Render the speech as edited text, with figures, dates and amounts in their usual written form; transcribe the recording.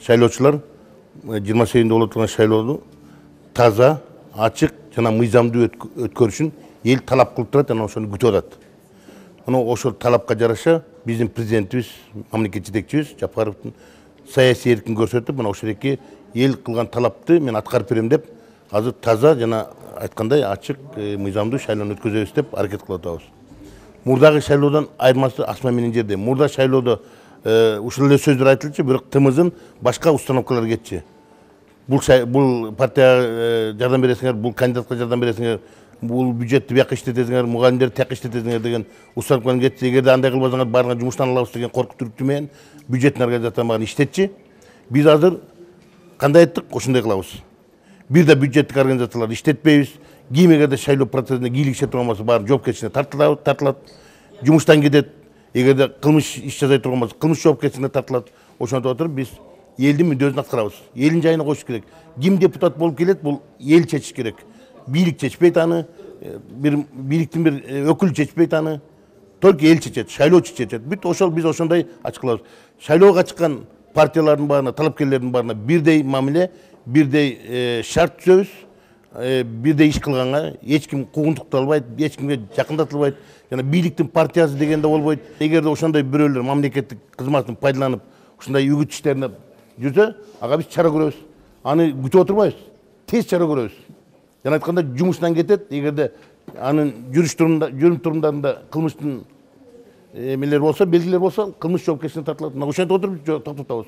шайлоочулар 28-де боло турган шайлоону таза, ачык жана мыйзамдуу өткөрүшүн эл талап кылып турат, жана ошону күтүп атат. Ошол талапка жараша биздин президентибиз, мамлекет жетекчибиз Жапаровдун саясий эркин көрсөтүп, мына ошол эл кылган талапты мен аткарып берем деп, азыр таза жана айткандай ачык, мыйзамдуу шайлоону өткөзөбүз деп аракет кылып атабыз. Мурдагы шайлоодон айырмасы асма менен жерде. Мурда шайлоодо ушул эле сөздөр айтылчу, бирок тымызын башка установкалар кетчи. Бул партияга жардам бересиңер, бул кандидатка жардам бересиңер, бул бюджетти бияка иштетесиңер, мугалимдерди тияка иштетесиңер деген установкалар кетчи. Эгерде андай кылбасаңар баарыңар жумуштан алабыз деген коркутуу менен бюджеттин организация багын иштетчи. Биз азыр кандай айттык, ошондой кылабыз. Бир да бюджеттик организациялар иштетпейбиз. Ким эгерде шайлоо процессине кийлигише турган болсо, баары жоопкерчиликке тартылат, жумуштан кетет. Эгерде кылмыш иш жасай турган болсо, кылмыш жоопкерчиликке тартылат. Ошондо отуруп биз элдин мүддөсүн аткарабыз. Элдин жайына коюш керек. Ким депутат болуп келет, бул эл чечиш керек. Бийлик чечпейт аны, бир бийликтин бир өкүлү чечпейт аны. Только эл чечет, шайлоочу чечет. Бүт биз ошондой ачыклабыз. Шайлоого чыккан партиялардын баарына, талапкерлердин баарына бирдей мамиле, бирдей шарт түзөбүз. Бирдей иш кылганга эч ким куугунтукталбайт, эч кимге жакындатылбайт. Жана бийликтин партиясы деген да болбойт. Эгерде ошондой бирөөлөр мамлекеттик кызматын пайдаланып, ушундай үгүт иштерине жүрсө, ага биз чара көрөбүз. Аны күтүп отурбайбыз. Тез чара көрөбүз. Жана айтканда жумуштан кетет, эгерде анын жүрүм турумдарында кылмыштын эмелер болсо, белгилер болсо, кылмыш жоопкерчиликке тартылат. Ошентип отуруп токтотобуз.